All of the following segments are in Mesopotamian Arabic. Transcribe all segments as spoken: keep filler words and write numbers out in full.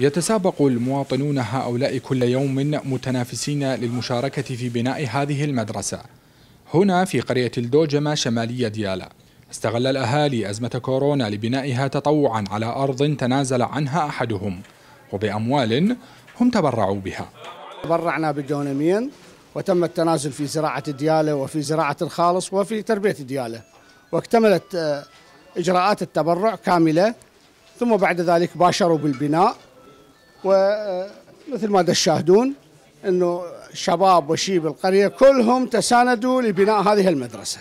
يتسابق المواطنون هؤلاء كل يوم متنافسين للمشاركة في بناء هذه المدرسة هنا في قرية الدوجمة شمالية ديالى. استغل الأهالي أزمة كورونا لبنائها تطوعا على أرض تنازل عنها أحدهم وبأموال هم تبرعوا بها. تبرعنا بدونمين وتم التنازل في زراعة ديالى وفي زراعة الخالص وفي تربية ديالى، واكتملت إجراءات التبرع كاملة، ثم بعد ذلك باشروا بالبناء. ومثل ما تشاهدون أنه شباب وشيب القرية كلهم تساندوا لبناء هذه المدرسة.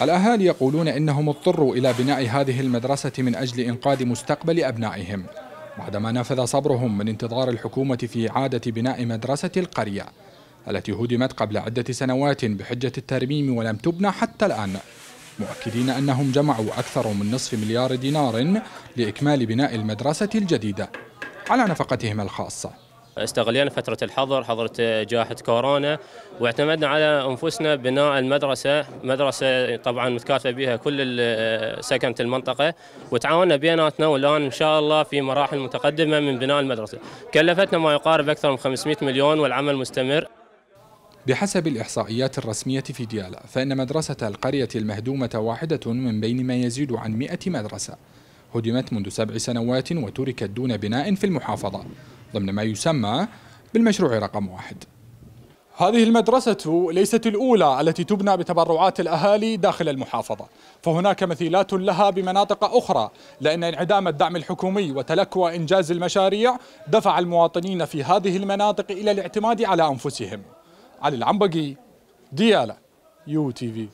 الأهالي يقولون إنهم اضطروا إلى بناء هذه المدرسة من أجل إنقاذ مستقبل أبنائهم بعدما نفذ صبرهم من انتظار الحكومة في إعادة بناء مدرسة القرية التي هدمت قبل عدة سنوات بحجة الترميم ولم تبنى حتى الآن، مؤكدين أنهم جمعوا أكثر من نصف مليار دينار لإكمال بناء المدرسة الجديدة على نفقتهم الخاصة. استغلينا فترة الحظر، حظر جائحة كورونا، واعتمدنا على أنفسنا بناء المدرسة، مدرسة طبعا متكاتفة بها كل سكنة المنطقة، وتعاوننا بيناتنا والآن إن شاء الله في مراحل متقدمة من بناء المدرسة. كلفتنا ما يقارب أكثر من خمسمئة مليون والعمل مستمر. بحسب الإحصائيات الرسمية في ديالى فإن مدرسة القرية المهدومة واحدة من بين ما يزيد عن مئة مدرسة هدمت منذ سبع سنوات وتركت دون بناء في المحافظة ضمن ما يسمى بالمشروع رقم واحد. هذه المدرسة ليست الأولى التي تبنى بتبرعات الأهالي داخل المحافظة، فهناك مثيلات لها بمناطق أخرى، لأن انعدام الدعم الحكومي وتلكؤ إنجاز المشاريع دفع المواطنين في هذه المناطق إلى الاعتماد على أنفسهم. علي العنبقي، ديالى، يو تي في.